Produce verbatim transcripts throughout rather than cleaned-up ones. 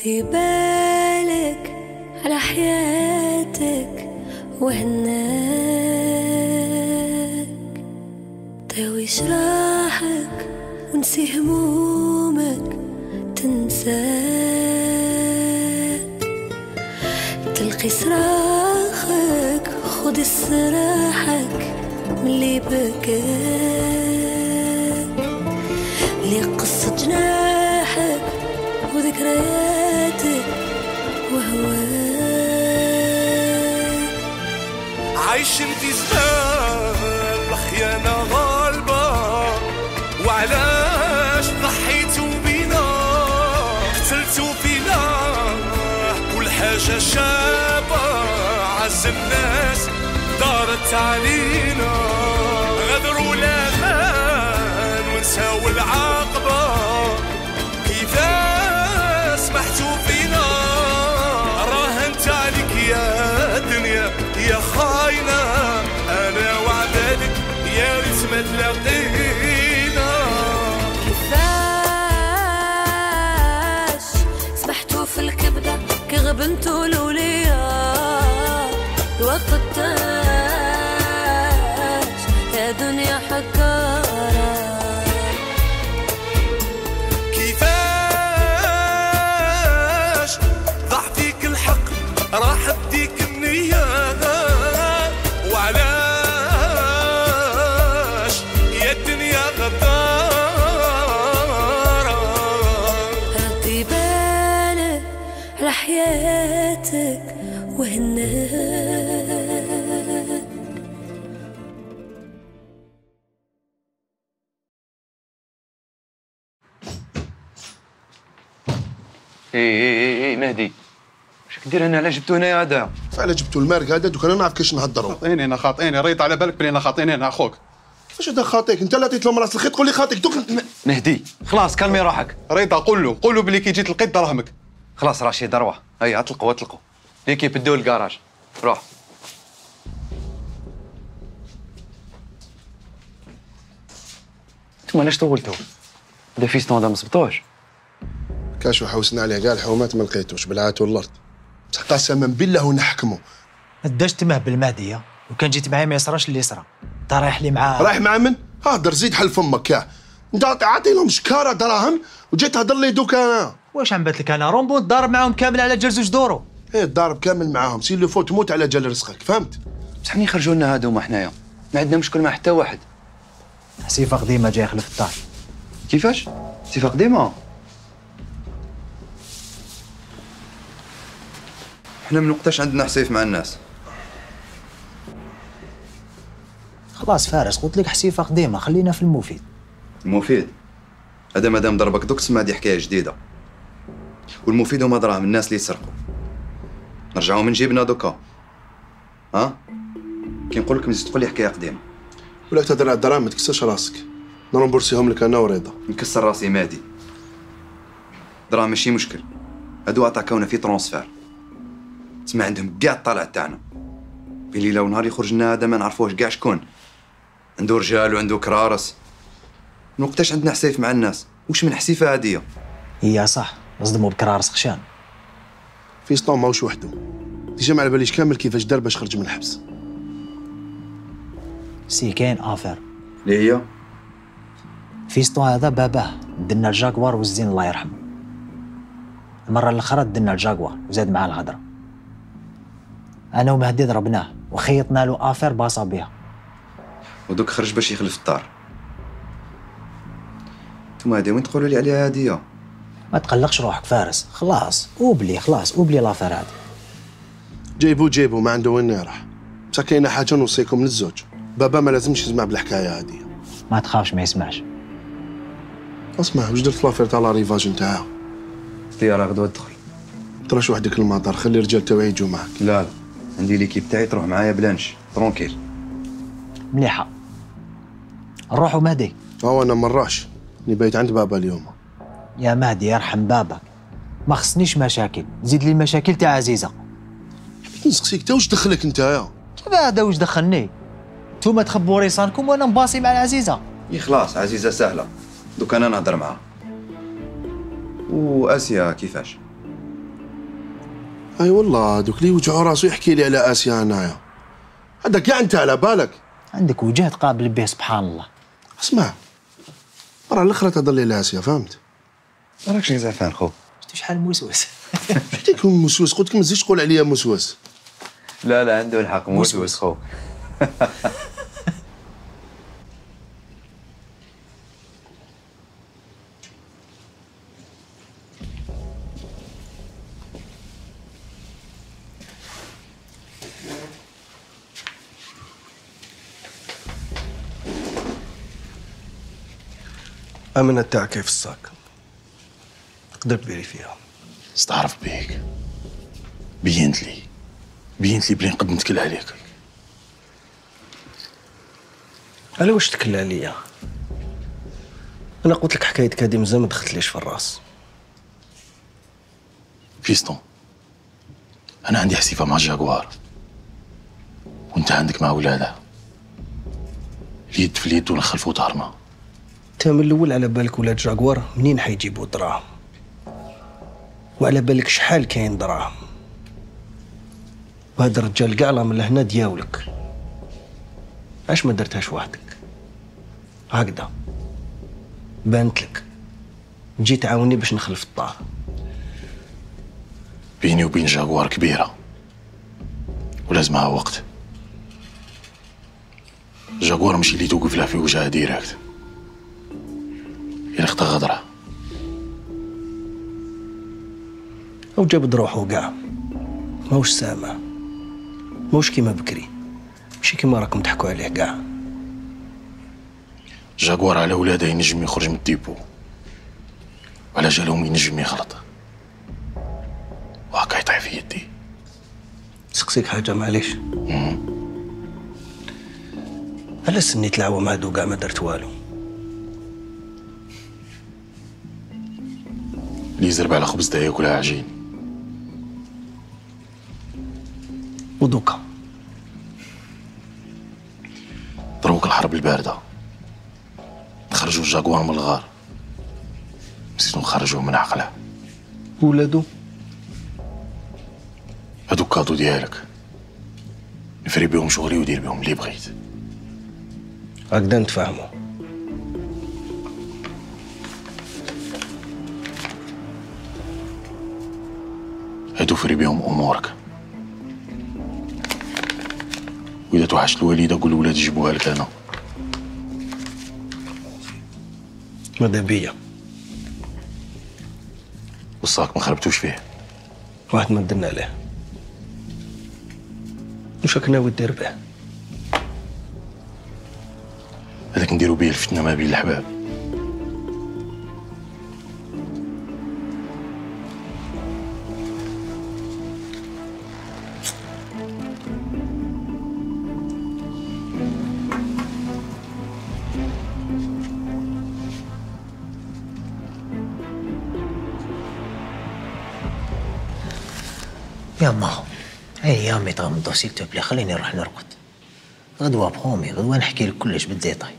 ردي بالك على حياتك وهناك، داوي جراحك ونسي همومك تنساك، تلقي صراخك خد استراحك ملي بكاك، لي قصة جناحك وذكرياتك وهواك. عايشين في زمان الخيانة غالبة، وعلاش ضحيتوا بينا قتلتوا فينا كل حاجة شابة، عز الناس دارت علينا، غدروا الأمان ونساو العاقبة، كيفاش سمحتوا فينا، راهنت عليك يا دنيا يا خاينة، أنا وعدالك يا ريت ما تلاقينا. كيفاش سمحتوا في الكبدة كي غبنتوا الأولياء، الوقت التاج يا دنيا حكارة. كيفاش ضاع فيك الحق راح بديك النية، وعلاش يا الدنيا غدارة. ردي بالك على حياتك وهناك. اي اي اي مهدي، واش كدير هنا؟ علاش جبتو هنايا هذا؟ فعلا جبتو المارك هذا دوك انا نعرف كيفاش نهضروا. خاطيني انا خاطيني، ريت على بالك بلي انا خاطيني انا اخوك. كيفاش هذا خاطيك؟ انت اللي عطيت لهم راس الخيط تقول لي خاطيك دوك. مهدي خلاص كلمي روحك. ريت قول له قول له بلي كي جيت لقيت دراهمك. خلاص رشيد روح، هيا اطلقوا اطلقوا ليكيب ادوا الكراج، روح. انتوما علاش طولتوا؟ هذا فيستون هذا ما صبطوش. كاشو حوسنا عليه كاع الحومات ما لقيتوش بالعات والارض، بصح قسما بالله ونحكموا. اداش تمه بالمهديه، وكان جيت معايا ما يصراش اللي يصرى. انت رايح لي معاه. رايح مع من؟ هادر زيد حل فمك كاع. انت عاطي لهم شكاره دراهم وجيت تهضر لي دوك انا. واش عم بات لك انا رومبو ضارب معاهم كامل على جال زوج دورو. ايه ضارب كامل معاهم، سير لو فوت موت على جال رزقك، فهمت؟ بصح منين يخرجوا لنا هادوما حنايا؟ ما عندنا مشكل مع حتى واحد. حسيفه قديمه جاي يخلف الدار. كيفاش؟ صفه قديمه؟ حنا من وقتاش عندنا حسيف مع الناس؟ خلاص فارس، قلت لك حسيفه قديمه، خلينا في المفيد. المفيد؟ هذا مادام ضربك دوك تسمى هذه حكايه جديده. والمفيد هما دراهم الناس اللي يسرقوا. نرجعوا من جيبنا دوكا. ها؟ كي نقول لك مزيد تقول لي حكايه قديمه. ولا تهضر على الدراهم ما تكسرش راسك. نرمبورسيهم لك انا ورضا. نكسر راسي مادي. دراهم ماشي مشكل. هادو عطاكونا في ترونسفير. تسمع عندهم كاع الطلع تاعنا. بين ليله ونهار يخرج لنا هذا ما نعرفوش كاع شكون. عنده رجال وعنده كرارس. من وقتاش عندنا حسيف مع الناس؟ واش من حسيفه هاديه؟ هي صح، نصدموا بكرارس خشان. فيستون ماهوش وحده. ديجا ما على باليش كامل كيفاش دار باش خرج من الحبس. سي كاين افير. اللي هي؟ فيستون هذا باباه دنا الجاكوار والزين الله يرحمه. المره الاخرى دنا الجاكوار وزاد معاه الهضره. انا ومهدي ضربناه وخيطنا له افير باصا بها. ودوك خرج باش يخلف الدار. نتوما هادي وين تقولوا لي عليها هاديه؟ ما تقلقش روحك فارس، خلاص اوبلي خلاص اوبلي لافير هادي. جيبو جيبو ما عنده وين يروح. بصح كاينه حاجه نوصيكم للزوج، بابا ما لازمش يسمع بالحكايه هادي. ما تخافش ما يسمعش. اسمع واش درت فلافير تاع لا ريفاج نتاعها؟ الطياره غدوه تدخل. تراش وحدك المطار، خلي الرجال تاوعي يجوا معاك. لا لا عندي ليكيب تاعي تروح معايا بلانش ترونكيل. مليحه. نروحوا مهدي. هو انا مراش اني بايت عند بابا اليوم. يا مهدي يرحم بابك، ما خصنيش مشاكل، زيد لي المشاكل تاع عزيزه. حبيت نسقسيك تا واش دخلك نتايا؟ كيف هذا واش دخلني؟ نتوما تخبوا ريصانكم وانا مباصي مع العزيزه. اي خلاص عزيزه سهله، دوك انا نهضر معاها. واسيا كيفاش؟ اي والله دوك لي يوجعوا راسو يحكي لي على اسيا هنايا. هذا كاع انت على بالك. عندك وجه تقابل به سبحان الله. اسمع مرة الاخرى تهضر لي على اسيا فهمت؟ راكش زعفان خو. شفتي شحال موسوس. شفتيك موسوس قلت لك ما تزيدش تقول عليا موسوس. لا لا عنده الحق موسوس خو. أمنة تاعك كيف الصاك؟ تقدر تبيري فيها. استعرف بيك، بينت لي بينت لي بلي نقد نتكل عليك. على واش تكل عليا؟ أنا قلت لك حكايتك هادي مزال ما دخلتليش في الراس. فيستون، أنا عندي حسيفة مع جاكوار وأنت عندك مع ولادها، اليد في اليد ونخلفوا دارنا. انت من الاول على بالك ولاد جاكوار منين حيجيبوا دراهم، وعلى بالك شحال كاين دراهم، وهذا الرجال كاع من لهنا دياولك. علاش ما درتهاش وحدك هكذا؟ بانت لك تجي تعاوني باش نخلف الدار. بيني وبين جاكوار كبيرة ولازمها وقت. جاكوار ماشي اللي توقف لها في وجهها ديريكت، إلا اختا غدرة. أو جاب روحو كاع ماهوش سامع، ماهوش كيما بكري، ماشي كيما راكم تحكوا عليه كاع. جاكوار على ولادها ينجم يخرج من الديبو، وعلى جالهم ينجم يغلط، وهكا يطيح في يدي. سقسيك حاجة معليش، على سنيت العوام هادو كاع ما درت والو. اللي يزرب على خبز دا ياكلها عجين. ودوكا دروك الحرب الباردة، نخرجوا الجاكوار من الغار، نسيتو نخرجوه من عقله. ولادو هادوك كادو ديالك، نفري بهم شغلي ودير بهم اللي بغيت. هكذا نتفاهموا. هادو فري بهم امورك، واذا توحشت الوالده قول الولاد يجيبوها لك انا. ماذا بيا وصاك ما خربتوش فيه. واحد ما درنا عليه. واش راك ناوي دير به؟ هذاك نديرو بيه الفتنه ما بين الحباب. يا ما ايامي تغمضوا سيل تو بلي، خليني نروح نرقد. غدوه بخومي، غدوه نحكي لك كلش بالديتاي.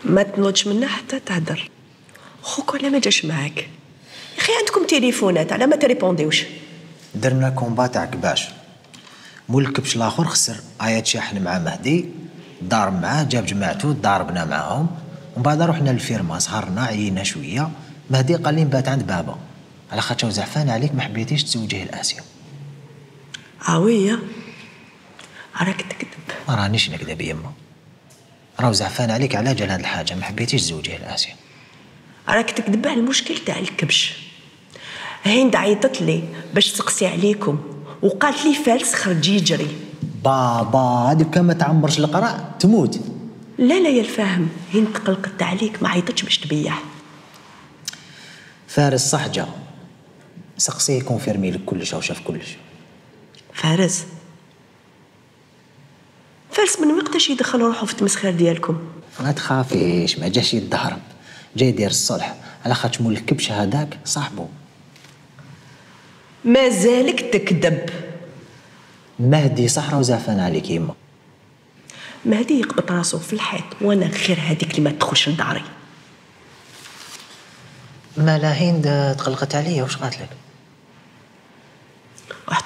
ما تنوضش منا حتى تهدر. خوك ولا ما جاش معاك؟ يا اخي عندكم تليفونات، على ما تريبونديوش؟ درنا كومبا تاع كباش، مول الكبش الاخر خسر ايات شاحن مع مهدي، ضارب معاه جاب جماعته ضاربنا معاهم، ومن بعد رحنا للفيرما سهرنا عيينا شويه. مهدي قال لي نبات عند بابا على خاطر زعفان عليك ما حبيتيش تزوجيه لاسيا. عويه راك تكذب. ما رانيش نكذب يما، راهو زعفان عليك على جال هاد الحاجه، ما حبيتيش تزوجيه لاسيا. راك تكذب على المشكل تاع الكبش. هند عيطت لي باش تسقسي عليكم وقالت لي فارس خرج يجري. بابا هادي كان ما تعمرش القرع تموت. لا لا يا الفاهم، هند تقلقت عليك ما عيطتش باش تبيع. فارس صح جا، سقسيه كونفيرمي لك كلش او شاف كلش. فارس فارس من وقتاش يدخل روحو في التمسخير ديالكم؟ ما تخافيش، ما جاش يتدهرب، جاي يدير الصلح على خاطر مول الكبش هذاك صاحبه. مازالك تكذب. مهدي صح راهو زعفان عليك يما. مهدي يقبط راسو في الحيط، وانا غير هذيك اللي ما تدخلش لداري. مالا هند تقلقت عليا، واش قالت لك؟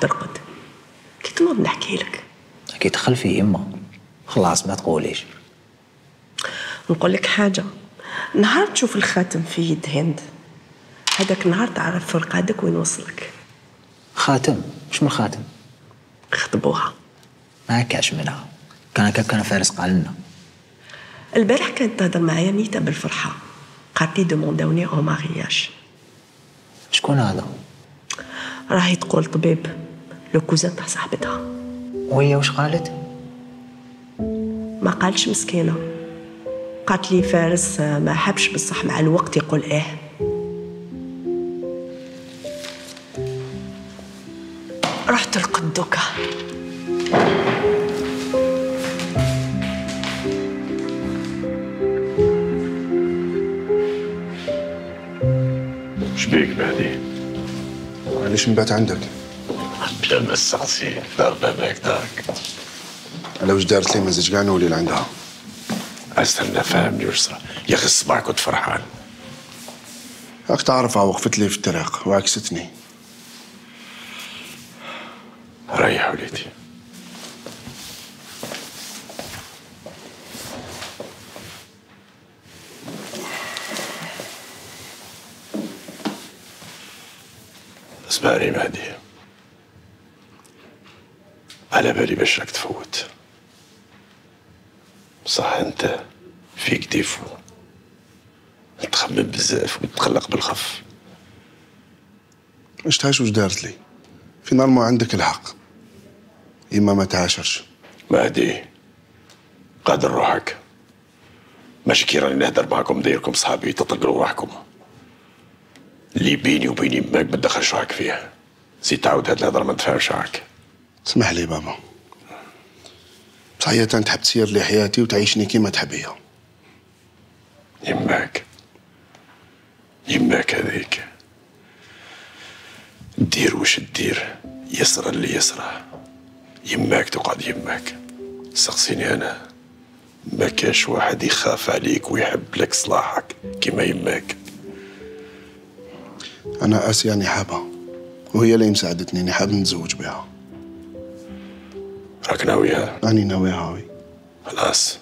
ترقد. كي تنوض نحكي لك. كي تخلفي يما خلاص ما تقوليش. نقول لك حاجه، نهار تشوف الخاتم في يد هند هذاك النهار تعرف فرقادك وين وصلك. خاتم؟ مش من خاتم، خطبوها. ما كاش منها، كان هكا كان فارس قال لنا. البارح كانت تهضر معايا نيتا بالفرحه، قالت لي دومونداوني او مارياج. شكون هذا؟ راهي تقول طبيب، لو كوزان تاع صاحبتها. وهي واش قالت؟ ما قالش مسكينه، قالت لي فارس ما حبش بصح مع الوقت يقول ايه. رحت القدوكه. شبيك مهدي؟ علاش نبات عندك؟ بلا ما السعسي دار باباك دارك. على واش دارت لي مازال كاع نولي لعندها. استنى فهمني واش صرا يا اخي الصباح كنت فرحان. راك تعرفها وقفت لي في الطريق وعكستني. ريح وليدي. اسمعني مهدي، على بالي باش راك تفوت، بصح انت فيك ديفو، تخمم بزاف وتقلق بالخف. واش تعيش واش دارت لي؟ فينالمون عندك الحق، اما ما تعاشرش. مهدي قادر روحك، ماشي كي راني نهدر معاكم دايركم صحابي تطلقوا روحكم. اللي بيني وبين يماك ما تدخلش روحك فيه، زيد تعاود هاد الهضره ما نتفاهمش معاك. اسمح لي بابا، بصح هي تحب تسير لي حياتي وتعيشني كيما تحب هي. يماك يماك هذيك دير واش دير، يسرى اللي يسرى. يماك تقعد يماك. سقسيني انا، ما كاش واحد يخاف عليك ويحب لك صلاحك كيما يماك. انا اسياني حابه وهي اللي مساعدتني، اني حاب نتزوج بها. راك ناويها؟ راني ناويها وي. خلاص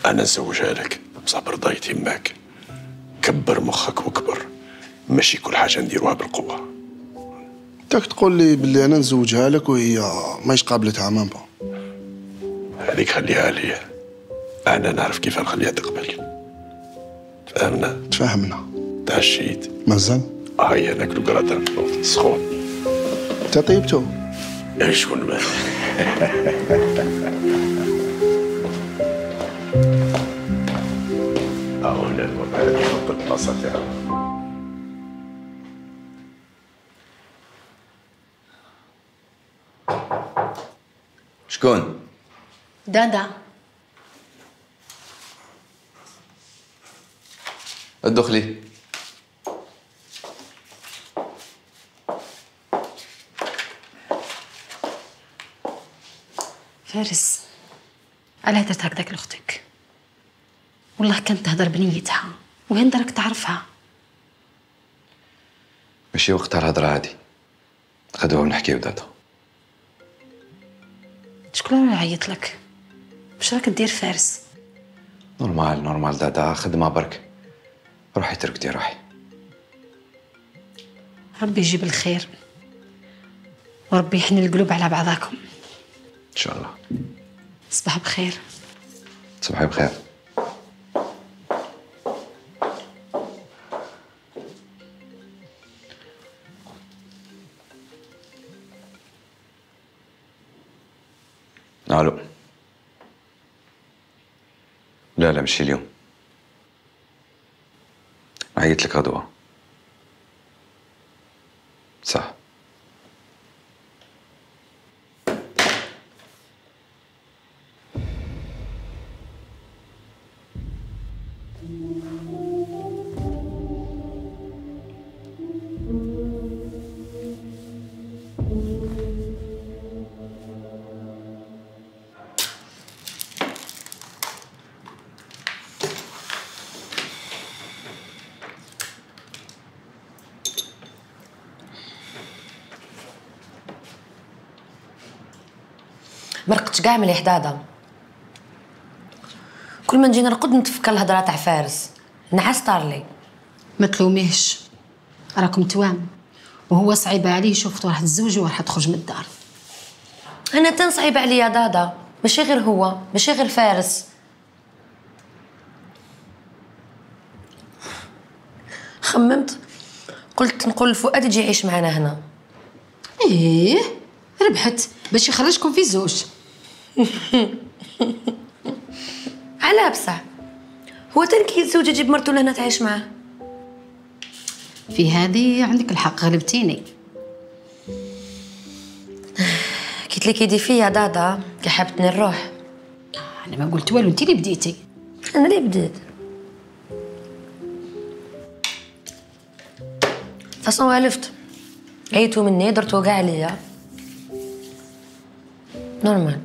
انا نزوجها لك، بصح برضاية يماك. كبر مخك وكبر، ماشي كل حاجه نديروها بالقوه. تاك تقول لي باللي انا نزوجها لك وهي ماهيش قابلتها مام با. هذيك خليها ليا، انا نعرف كيف نخليها تقبل. تفهمنا؟ تفهمنا. تعشيت؟ مازال؟ هيا ناكلو كراتان سخون. انت طيبتو؟ شكون ما هاهنا الوضع نحط البلاصه تاعو. شكون؟ دادا. ادخلي. فارس، علاه درت هكذاك لاختك؟ والله كانت تهدر بنيتها وهند راك تعرفها. ماشي وقتها الهضره عادي، غدوه ونحكيو داتا. شكون اللي عيط لك؟ واش راك دير فارس؟ نورمال نورمال دادا، خدمه برك. روحي تركتي روحي. ربي يجيب الخير وربي يحن القلوب على بعضاكم ان شاء الله. صباح بخير. صباحي بخير. الو. لا لا ماشي اليوم، عيط لك غدوة. صح. مرقتش كاع مليح دادا. كل ما نجي نرقد نتفكر الهضره تاع فارس، نعس طارلي. ما تلوميهش، راكم توام وهو صعيب عليه يشوف راح تزوج وراح تخرج من الدار. انا تنصعيب عليا دادا، ماشي غير هو، ماشي غير فارس. خممت قلت نقول لفؤاد يجي يعيش معنا هنا. ايه ربحت باش يخرجكم في زوج. على بصح هو تنكي يتزوج يجيب مرتو لهنا تعيش معاه. في هذه عندك الحق، غلبتيني. قلت لك يدي فيا دادا كي حابتني نروح. انا ما قلت والو، انت اللي بديتي. انا اللي بديت. فاصون والفت، عيتو مني درتو كاع عليا نورمال.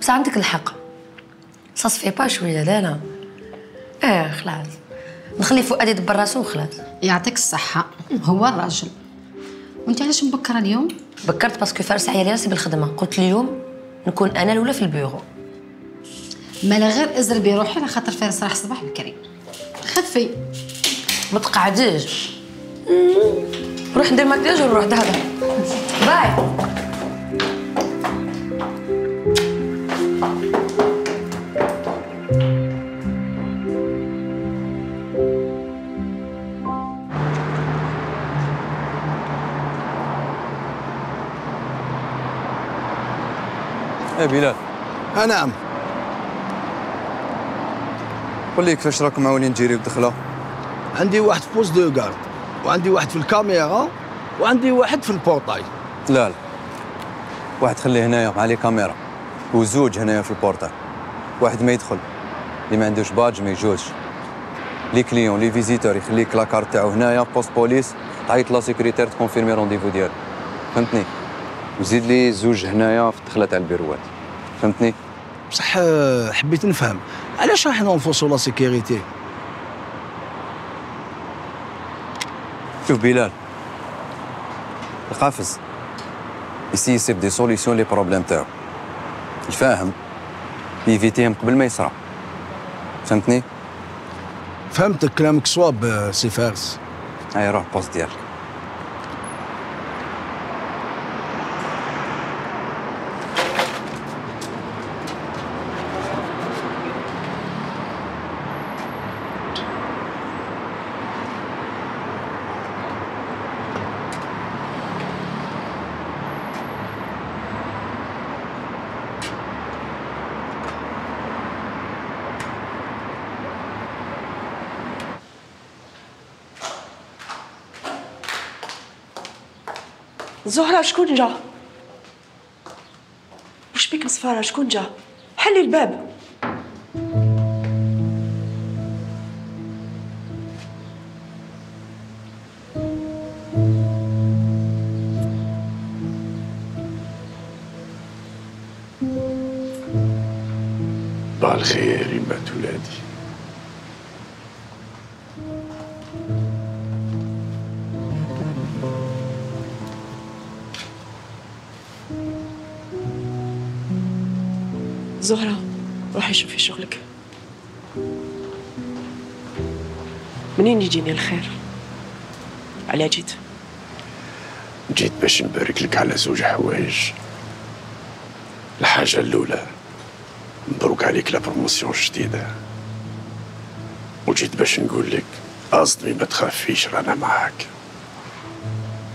بس عندك الحق، صاصفي با شويه. لا لا اه خلاص نخلي فؤاد يدبر راسو وخلاص. يعطيك الصحه، هو الراجل. وانت علاش مبكره اليوم؟ بكرت باسكو فارس عيالي راسي بالخدمه، قلت اليوم نكون انا الاولى في البيرو. مالا غير ازربي روحي على خاطر فارس راح صباح بكري. خفي ما تقعديش، نروح ندير مكياج ونروح دهدا. باي. ايه بلال. آه نعم. قول لي كيفاش راكم معاونين تجيريو الدخله؟ عندي واحد في بوست دو غارد، وعندي واحد في الكاميرا، وعندي واحد في البورتاي. لا لا، واحد خليه هنايا مع لي كاميرا، وزوج هنايا في البورتاي. واحد ما يدخل، اللي ما عندوش باج ما يجوزش. لي كليون لي فيزيتور يخليك لاكارت تاعو هنايا بوست بوليس، تعيط لا سيكوريتير تكونفيرمي رونديفو ديالو. فهمتني؟ وزيد لي زوج هنايا في الدخله تاع البيروات. فهمتني؟ بصح حبيت نفهم علاش راح ننفوسوا لا سيكوريتي. شوف بلال، القافز يسي يسيب دي سوليسيون لي بروبليم تاعو، الفاهم يفيتيهم قبل ما يصرا. فهمتني؟ فهمتك، كلامك صواب سي فارس. هاي روح بوست ديالك. زهرة شكون جا؟ وش بيك مصفارة؟ شكون جا؟ حلي الباب. بالخير يمات ولادي. زهرة روحي شوفي شغلك. منين يجيني الخير؟ على جيت؟ جيت باش نبارك لك على زوج حوايج. الحاجة الأولى مبروك عليك لا بروموسيون جديدة، وجيت باش نقول لك أصدمي ما تخافيش رانا معاك.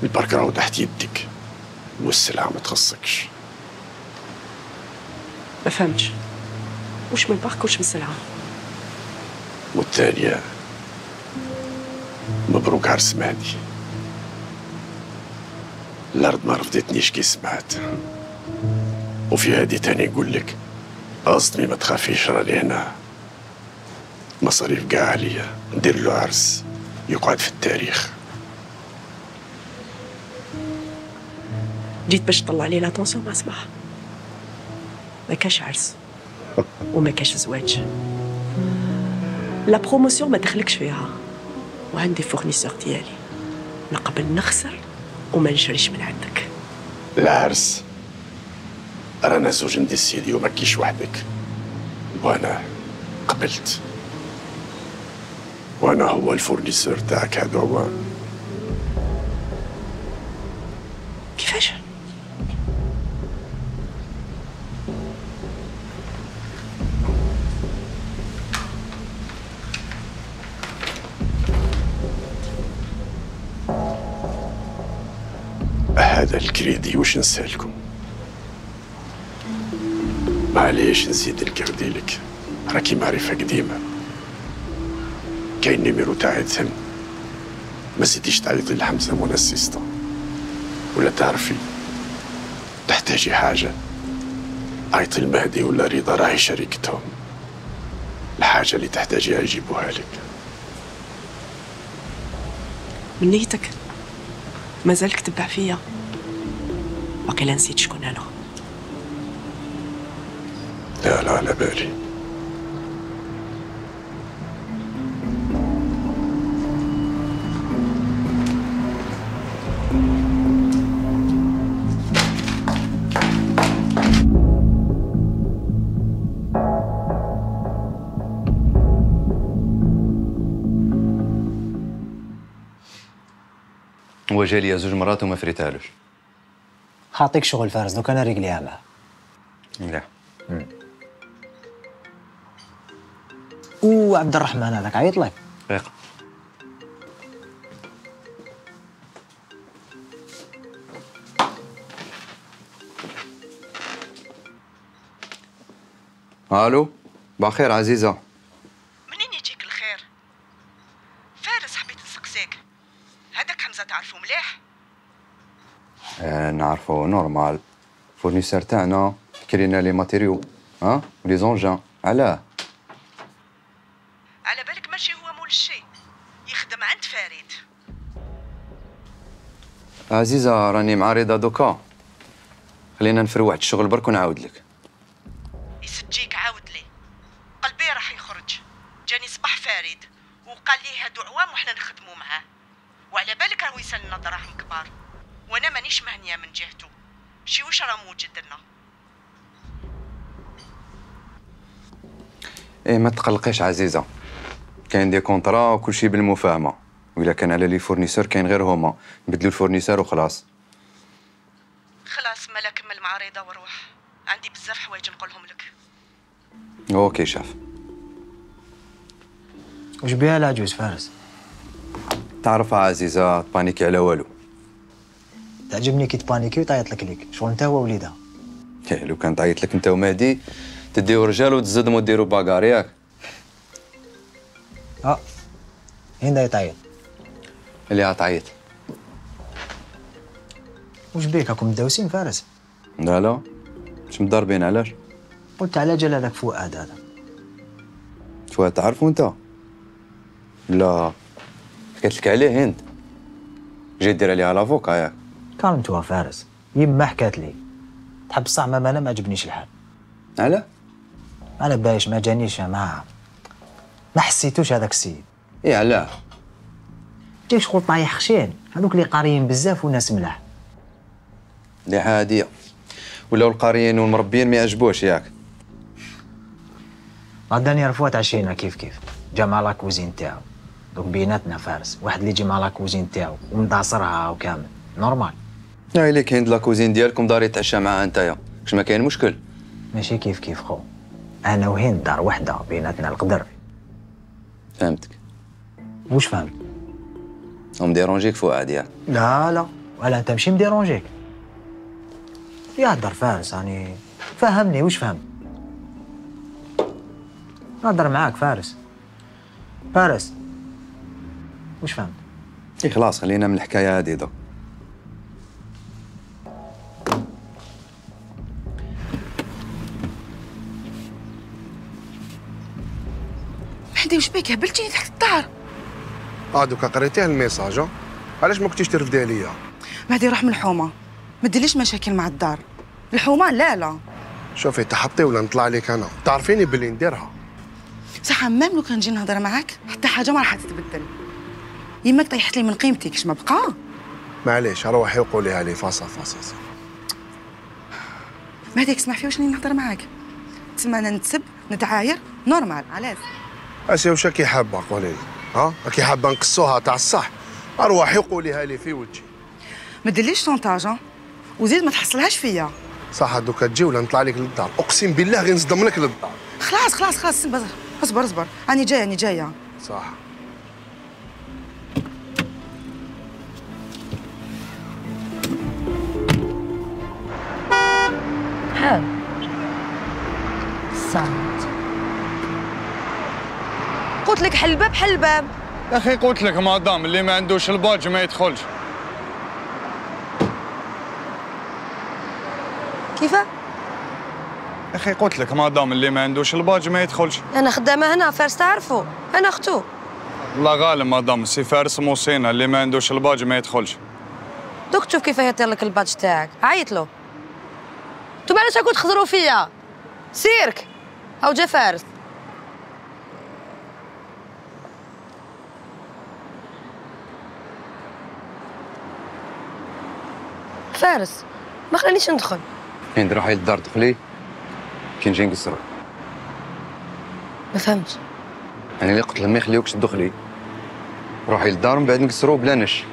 البرك راهو تحت يدك والسلعة ما تخصكش. ما فهمتش، وش من البرك وش من السلعة؟ والثانية مبروك عرس مهدي. الأرض ما رفضتنيش كي سمعت، وفي هادي تاني نقول لك أصدمي ما تخافيش راني هنا. مصاريف كاع عليا، ندير له عرس يقعد في التاريخ. جيت باش تطلع لي لاتونسيون مع صباح. ما كاش عرس وما كاش زواج. لا بروموسيون ما دخلكش فيها، وعندي فورنيسور ديالي نقبل نخسر وما نشريش من عندك. العرس رانا زوج نديسيديو ما كيش وحدك، وانا قبلت، وانا هو الفورنيسور تاعك. هذا هو. كيفاش؟ هذا الكريدي واش نسالكم؟ معليش نزيد الكردي لك، راكي معرفة قديمة. كاين نيميرو تاع عيدهم، ما زيديش تعيطي لحمزة مون اسيستون، ولا تعرفي تحتاجي حاجة عيطي المهدي ولا رضا، راهي شريكتهم. الحاجة اللي تحتاجيها يجيبوها لك. من نيتك مازالك تبع فيا، باقي نسيت شكون انا. لا لا على بالي. هو جا ليا زوج مرات وما فريتهالوش. خاطيك شغل فارس، دوك انا ريقليها معاه. مليح. وعبد الرحمن هذاك عيط لك؟ دقيقة. الو، بخير عزيزة. منين يجيك الخير؟ فارس حبيت نسقسيك، هذاك حمزة تعرفو مليح؟ آه نعرفو نورمال، فورنيسور تاعنا، كرينا لي ماتيريو، ها؟ ولي زونجان، علاه؟ على بالك ماشي هو مول الشي، يخدم عند فريد. عزيزة راني مع رضا دوكا، خلينا نفرو واحد الشغل برك ونعاود لك. يسجيك عاود لي، قلبي راح يخرج. جاني صباح فريد وقال لي هادو عوام وحنا نخدمو معاه، وعلى بالك راهو يسالنا دراهم كبار، وانا مانيش مهنيه من جهته. شي واش راه موجد لنا؟ ايه ما تقلقيش عزيزة، كاين دي كونطرا وكل شيء بالمفاهمة، وإلا كان على لي فورنيسور كاين غير هما، نبدلو الفورنيسور وخلاص. خلاص مالا كمل مع رضا وروح، عندي بزاف حوايج نقولهم لك. اوكي شاف. واش بيها العجوز فارس؟ تعرفها عزيزة، تبانيكي على والو. تعجبني كي تبانيكي وتعيط لك ليك، شغل انت هو وليدها. إيه لو كان تعيط لك انت ومهدي تديو رجال وتزدموا ديروا باكار ياك. اه هين دا يتعيط؟ اللي غتعيط. واش بيك راكم مداوسين فارس؟ لا لا مش مضاربين، علاش؟ قلت على جال هذاك فؤاد هذا. فؤاد تعرفو انت؟ لا حكيت لك عليه هند، جاي دير عليها لافوكا ياك. كالمتوا فارس، يما حكات لي تحب الصح ما انا ما عجبنيش الحال. علاه؟ انا بايش ما جانيش، ما ما حسيتوش هذاك السيد. ايه علاه؟ جاك شغل طايح خشين، هذوك اللي قاريين بزاف وناس ملاح. اللي عادية، ولاو القاريين والمربيين ما يعجبوش ياك. غدا رفوها تعشينا كيف كيف، جا مع لاكوزين تاعو، دوك بيناتنا فارس، واحد اللي يجي مع لاكوزين تاعو ومداصرها وكامل، نورمال. لا ليك هند لاكوزين ديالكم دار يتعشى معاها نتايا، واش ما كاين مشكل؟ ماشي كيف كيف خو، انا وهند دار وحده بيناتنا القدر. فهمتك. واش فهمت؟ هم ديرونجيك فؤاد ياك؟ لا لا، ولا انت ماشي مديرونجيك. يهدر فارس يعني، فهمني واش فهم؟ نهضر معاك فارس. فارس واش فهمت؟ اي خلاص خلينا من الحكايه هذه دوك. مهدي واش بيك هبلتيني تحت الدار؟ اه دوكا قريتيه الميساج، علاش ما كنتيش ترفدي عليا؟ مهدي روح من الحومه، ما ديرليش مشاكل مع الدار. الحومه لا لا. شوفي تحطي ولا نطلع عليك انا، تعرفيني باللي نديرها. صح مام لو كان نجي نهضر معاك حتى حاجه ما راح تتبدل. يماك طيحت لي من قيمتي كش ما بقى. معليش روحي وقوليها لي فاصا فاصا. مهديك اسمح في واش راني نهضر معاك. تسمى انا نتسب نتعاير نورمال علاش؟ اسيا واش راكي حابه قولي لي؟ ها راكي حابه نقصوها تاع الصح؟ اروحي قوليها لي في وجهي. ما ديرليش شونطاج وزيد ما تحصلهاش فيا. صح دوكا تجي ولا نطلع لك للدار، اقسم بالله غير نصدم لك للدار. خلاص خلاص خلاص اصبر اصبر اصبر راني جايه راني جايه. صح. حال صامت. قلت لك حل الباب حل الباب. يا اخي قلت لك مادام اللي ما عندوش الباج ما يدخلش. كيفاه؟ يا اخي قلت لك مادام اللي ما عندوش الباج ما يدخلش. انا خدامه هنا فارس تعرفوا انا اختو. الله غالب مادام سي فارس موصينا اللي ما عندوش الباج ما يدخلش. دوك تشوف كيف يطير لك الباج تاعك عيط له. انتوما علاش راكم تخزروا فيا؟ سيرك او جا فارس. فارس ما خلانيش ندخل. كاين روحي للدار دخلي كي نجي نقصرو. ما فهمتش. انا اللي قلت لهم ما يخليوكش تدخلي روحي للدار ومن بعد نقصرو بلا نش.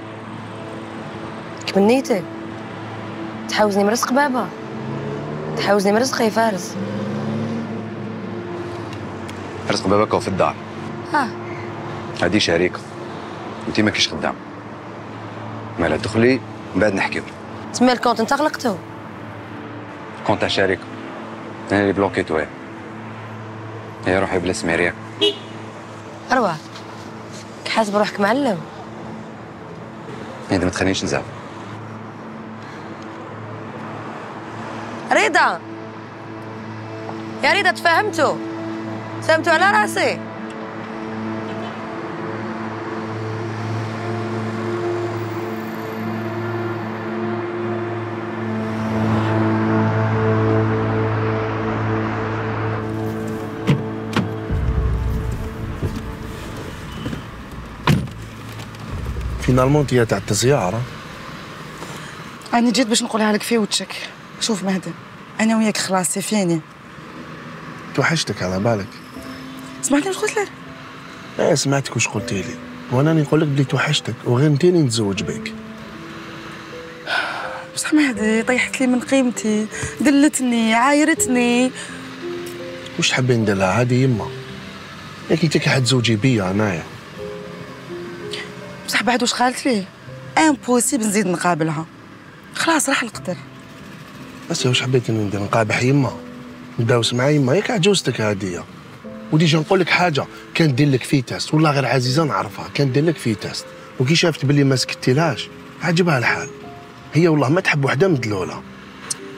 كيف نيتك؟ تحاوزني من رزق بابا، تحاوزني من رزق يا فارس. رزق باباك هو في الدار. ها هادي شريكة انتي ماكيش خدام. مالا دخلي من بعد نحكيو. تسمى الكونت انت غلقتو؟ كونت تاع شريكة انا اللي بلوكيتو. هي هي روحي بلا سميريا. اروح حاسب روحك معلم. انت ما تخلينيش نزعل. رضا يا رضا تفهمتوا؟ سلمتوا على راسي. فينالمون تي تاع التزيارة. انا جيت باش نقولها لك في وجهك. شوف مهدي انا وياك خلاص سيفيني. توحشتك على بالك. سمعتني واش قلت لك؟ ايه سمعتك واش قلتي لي وانا نقول لك بلي توحشتك وغير نتيني نتزوج بك. بصح مهدي طيحت لي من قيمتي، دلتني عايرتني. واش تحبي ندير لها؟ عادي يما ياك انت كي حتزوجي بيا انايا. بصح بعد واش قالت لي امبوسيبل نزيد نقابلها. خلاص راح القدر. بس واش حبيتي ندير؟ نقابح يما نداوس مع يما ياك عجوزتك هاديه. وديجا نقول لك حاجه، كان دير لك في تيست والله غير عزيزه نعرفها، كان دير لك في تيست وكي شافت باللي ما سكتيلهاش عجبها الحال. هي والله ما تحب وحده مدلوله.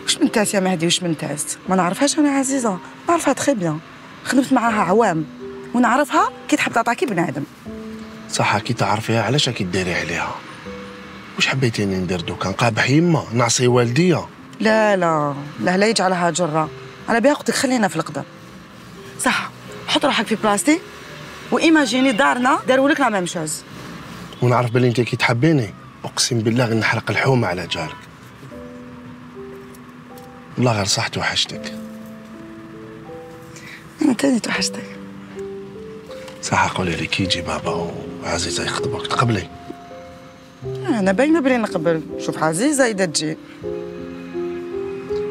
واش من تاس يا مهدي واش من تاس؟ ما نعرفهاش انا عزيزه، نعرفها تخي بيان، خدمت معاها عوام ونعرفها كي تحب تعطاكي بنادم. صح كي تعرفيها علاش راكي ديري عليها؟ واش حبيتيني ندير دوكا؟ نقابح يما نعصي والديا؟ لا لا لا لا يجعلها جره، انا بها قلت لك خلينا في القدر. صح حط روحك في بلاصتي وايماجيني دارنا داروا لك لا ميم شوز. ونعرف بلي انت كي تحبيني اقسم بالله غير نحرق الحومه على جارك. والله غير صح توحشتك. انا تاني توحشتك. صح قولي لي كي يجي بابا وعزيزه يخطبوك تقبلي؟ انا باينه بلي نقبل. شوف عزيزه اذا تجي.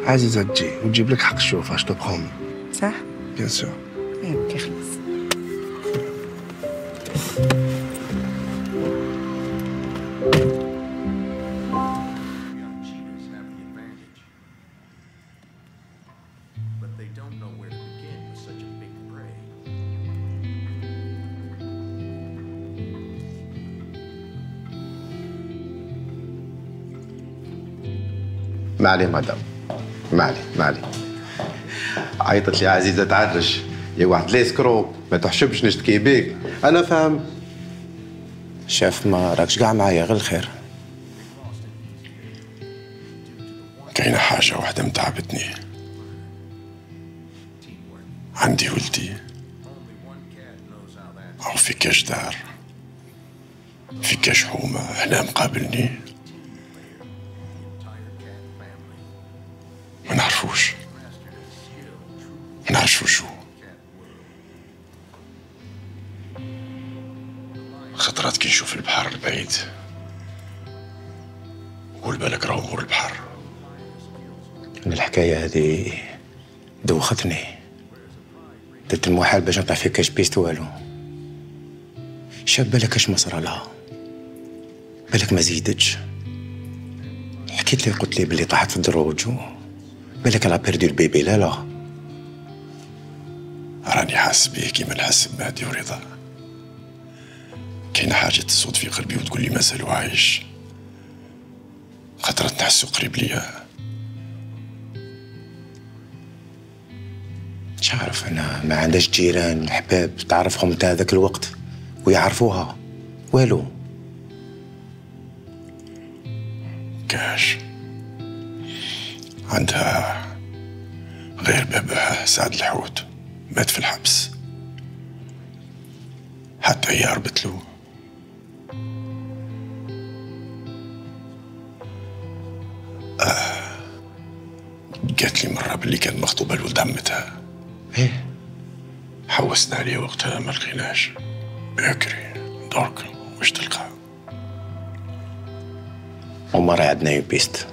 عزيزه تجي وتجيب لك حق الشوفه اش تبخومي. صح؟ بيان سور. اوكي خلاص. معلي مدام معلي معلي عيطت لي عزيزه تعرج يا واحد ليسكرو ما تحشمش نشتكي بيك. انا فاهم شاف ما راكش كاع معايا غير الخير. كاينه حاجه واحده متعبتني. عندي ولدي او في كاش دار في كاش حومه هنا مقابلني ما نعرفوش. نعرفش وشو. خطرات كي نشوف البحر البعيد قول بالك راهو مور البحر. الحكايه هذه دوختني، درت المحال باش نطلع فيك كاش بيست والو. شاب بالك اش ما صرا لها، بالك ما زيدتش. حكيت لي قلت لي بلي طاحت في الدروج، بالك على بيردو البيبي. لا لا راني حاس بيه كيما نحس بمهدي ورضا. كاينه حاجه تصوت في قلبي وتقول لي مازالو عايش، خاطر نحسو قريب ليا. مش عارف انا، ما عندهاش جيران احباب تعرفهم تاع هذاك الوقت ويعرفوها والو. كاش عندها غير باباها سعد الحوت مات في الحبس، حتى هي هربت له. آه. قالت لي مرة باللي كانت مخطوبة لولد عمتها. ايه حوسنا عليه وقتها ما لقيناش. بكري درك واش تلقى؟ وما راهي عندنا يبيست،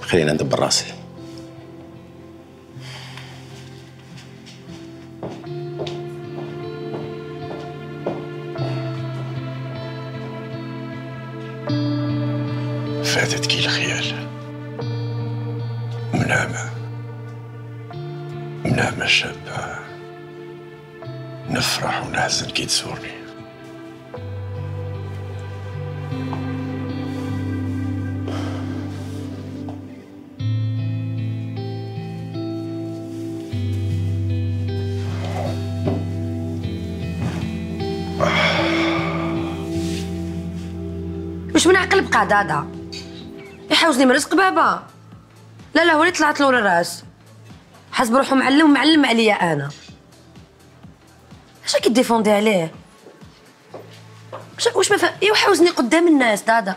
خلينا ندبر راسي. فاتت كي الخيال، منامة منامة شابة، نفرح ونحزن كي تزورني. واش من عقل بقى دادا يحوزني من رزق بابا؟ لا لا هو اللي طلعت له الراس، حسب روحو معلم ومعلم عليا انا. اش راكي ديفوندي عليه؟ واش ما فهم؟ ايوا حوزني قدام الناس دادا.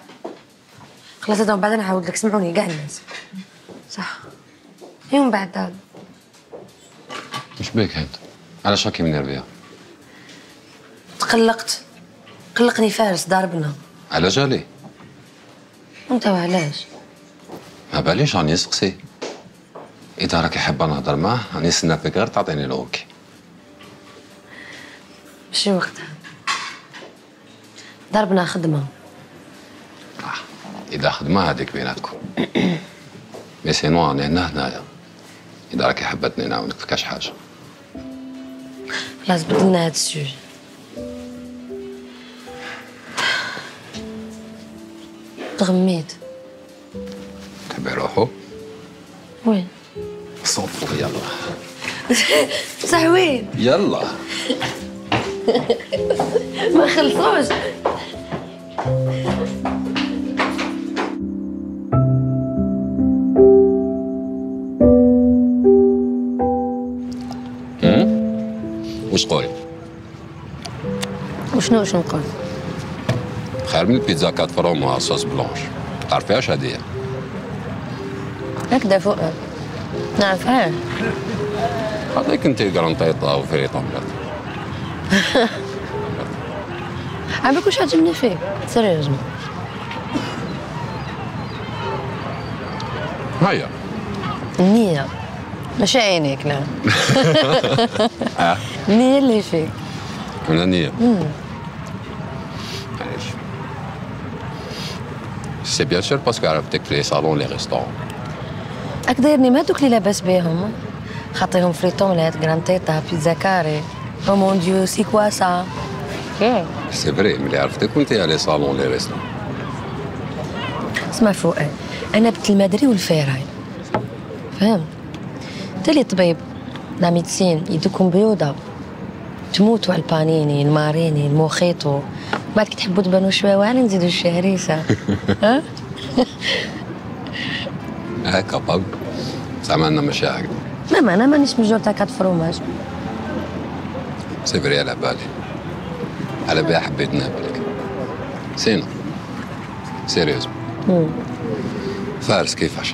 خلاص دادا ومن بعد نعاود لك، سمعوني كاع الناس. صح ايوا من بعد دادا. واش بيك هاد؟ علاش راكي منرفيه؟ تقلقت، قلقني فارس ضاربنا. على جالي؟ انت وعلاش؟ ما باليش راني نسقسي. اذا راكي حابه نهضر معاه راني نستنى فيك غير تعطيني الاوكي. ماشي وقتها، ضربنا خدمه. آه. اذا خدمه هذيك بيناتكم. مي سينو راني هنا هنايا، اذا راكي حبتني نعاونك في كاش حاجه. خلاص بدلنا هاد السوجي. تغميت. تحبي روحو؟ وين؟ صوفو يلا. صح وين؟ يلا. ما خلصوش. واش قولي؟ وشنو واش نقول؟ خير من البيتزا كات فروم مع صوص بلونش، تعرفيهاش هادية؟ هكذا فوق نعرفها. هذيك انتي كرونطيطا وفريط اومليت. عمرك واش عجبني فيك؟ سيريوزمون. هيا. النية ماشي عينيك لا. النية اللي فيك. من النية؟ سي بيان سور باسكو عرفتك في لي صالون لي ريستورون. راك دايرني ما دوك اللي لاباس بيهم، خاطيهم فريتوملات كرانتيتا بيتزا كاري. او مون ديو سي كوا سا. سي فري ملي عرفتك كنت على لي صالون لي ريستورون. اسمع فؤاد، انا بنت المدري والفيراي فهمت؟ انت اللي طبيب لا ميدسين يدوكم بيوضه تموتوا على البانيني الماريني الموخيتو، بعد كي تحبوا تبانوا شويه واعرين نزيدوا الشهريسه. ها؟ هكا باب زعما انا ماشي هكذا. لا ما انا مانيش من جور تاع كات فروماج. سي فري على بالي، على بالي حبيت نقابلك. سينو سيريوزمون فارس كيفاش؟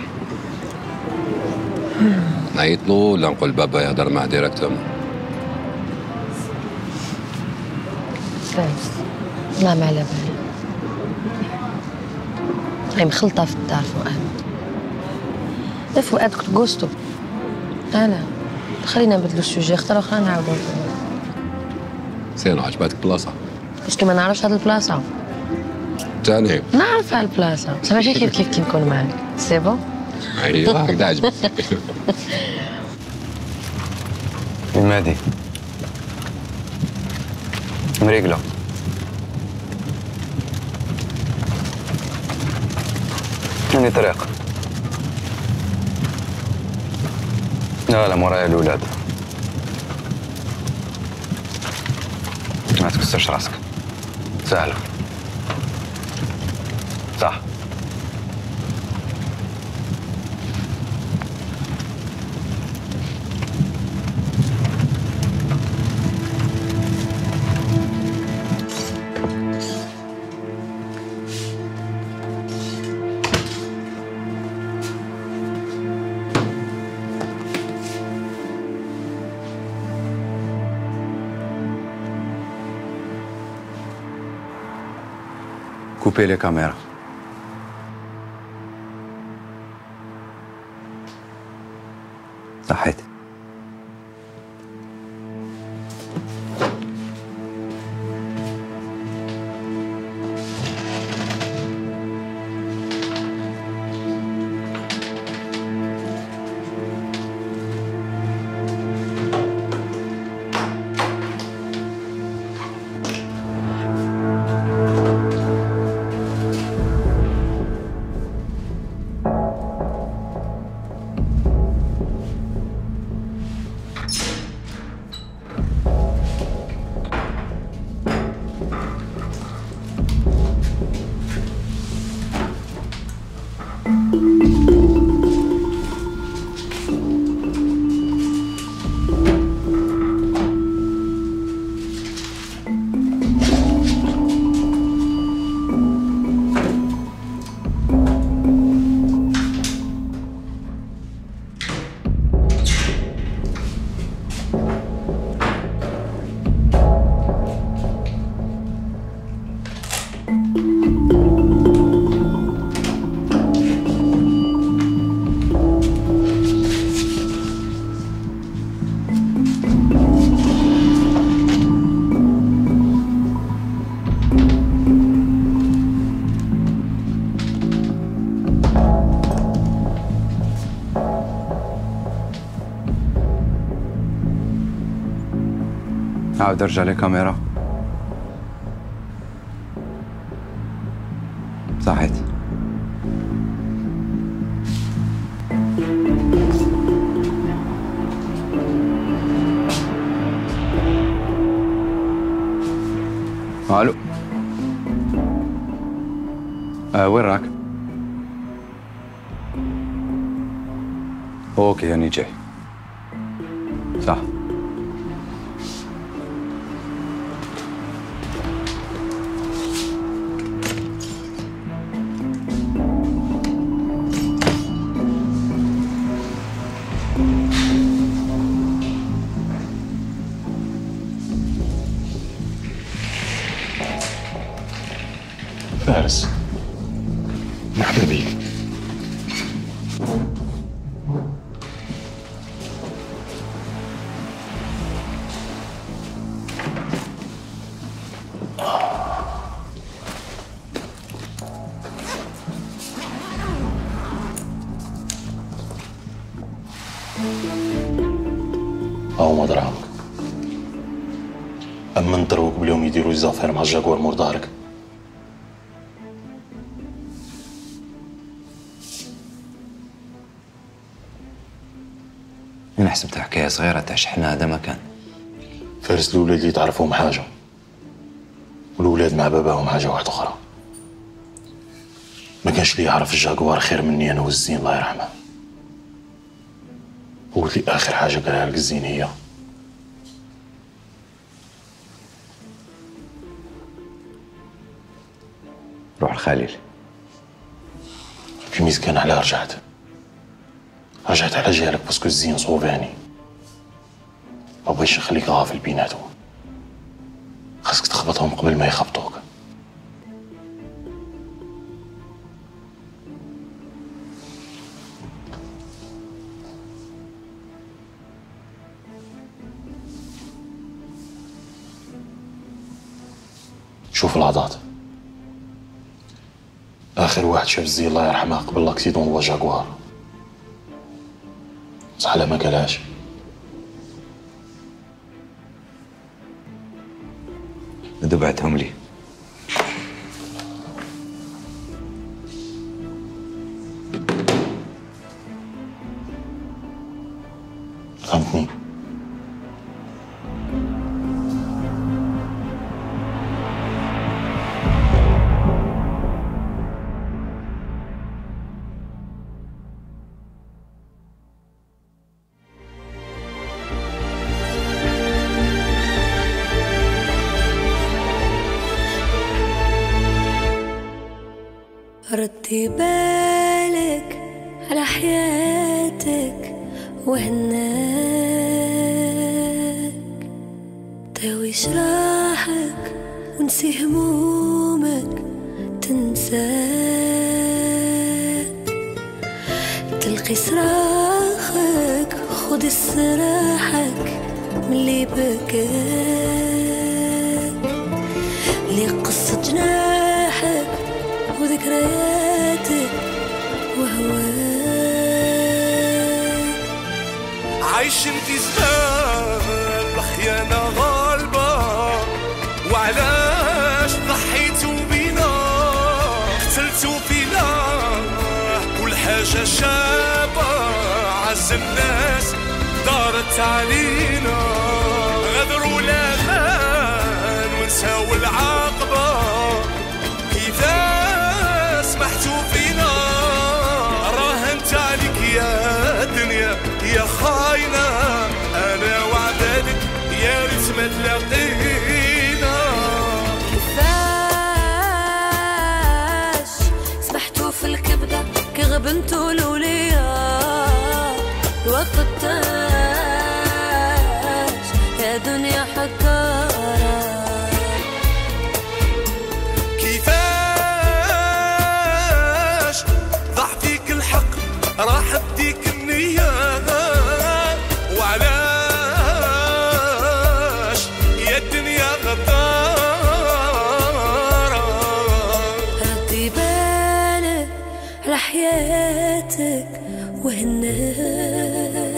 نعيط له ولا نقول بابا يهضر معاه ديريكتومون؟ فارس لا ما على بالي. هاي مخلطة في الدار فؤاد. لا فؤاد كنت جوستو. أنا خلينا نبدلو السوجي اختار أخرى نعاودو. سينو عجبتك البلاصة؟ باسكو ما نعرفش هاد البلاصة. تاني نعرف هاد البلاصة بصح ماشي كيف كيف كي نكون معاك. سي بون؟ ايوا هكذا عجبك. المادي مريقلة عندي طريق. لا لا مورايا الولاد. ما تكسرش راسك سهلة صح. Coupez les caméras. صحيت. عاود ارجع للكاميرا. صحيت. الو آه وين راك؟ اوكي هاني جاي. صح. فارس مرحبا بيك. هاهما دراهمك. أما نضربوك باليوم يديروا الزافير مع الجاكوار مور ظهرك. أنا حسبتها حكاية صغيرة تاع شحنة. هذا ما كان. فارس الأولاد اللي تعرفهم حاجة والأولاد مع باباهم حاجة واحدة أخرى. ما كانش اللي يعرف الجاكوار خير مني أنا والزين الله يرحمه. هو اللي آخر حاجة قالها لك الزين هي روح الخليل. الميز كان عليها رجعت. رجعت على جهلك باسكو الزين صوباني، ما بغيتش نخليك غافل بيناتهم، خاصك تخبطهم قبل ما يخبطوك. شوف العضات، آخر واحد شاف الزين الله يرحمها قبل لاكسيدون هو جاكوار، صح لا ما قالهاش؟ ندو بعتهم لي. فهمتني؟ ردي بالك على حياتك وهناك، داوي جراحك ونسي همومك تنساك، تلقي صراخك خد استراحك ملي بكاك، لي قصة جناحك وذكرياتك وهواك، عايشين في زمان الخيانة غالبة، وعلاش ضحيتوا بينا قتلتوا فينا كل حاجة شابة، عز الناس دارت علينا، غدروا الأمان ونساو العاقبة، كيفاش سمحتوا فينا، راهنت عليك يا دنيا يا خاينة، أنا وعدادك يا ريت ما تلاقينا، كيفاش سمحتوا في الكبدة كي غبنتوا الأولياء، الوقت تاج يا دنيا حكارة، راح بديك النية، وعلاش يا الدنيا غدارة، ردي بالك على حياتك وهناك.